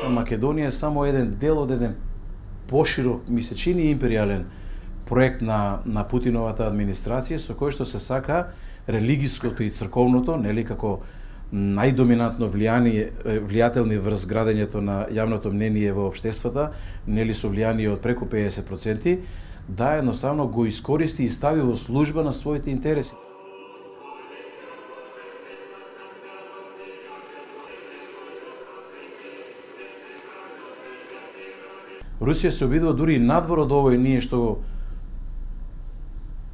Македонија е само еден дел од еден поширок, ми се чини империјален проект на Путиновата администрација, со кој што се сака религиското и црковното, нели, како најдоминантно влијателни врз градењето на јавното мнение во општествата, нели со влијание од преку 50%, да едноставно го искористи и стави во служба на своите интереси. Русија се обидува дури и надвор од овој ние што го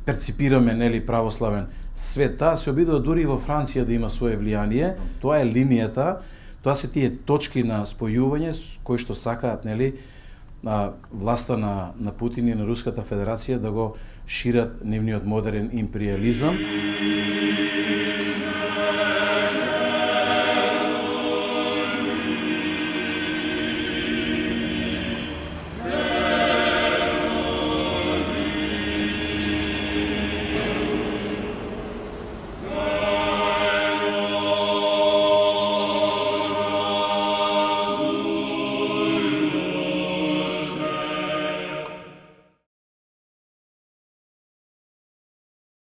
перципираме, нели, православен свет, таа се обидува дури и во Франција да има свое влијание. Тоа е линијата, тоа се тие точки на спојување кои што сакаат, нели, власта на Путин и на Руската Федерација да го шират нивниот модерен империализам.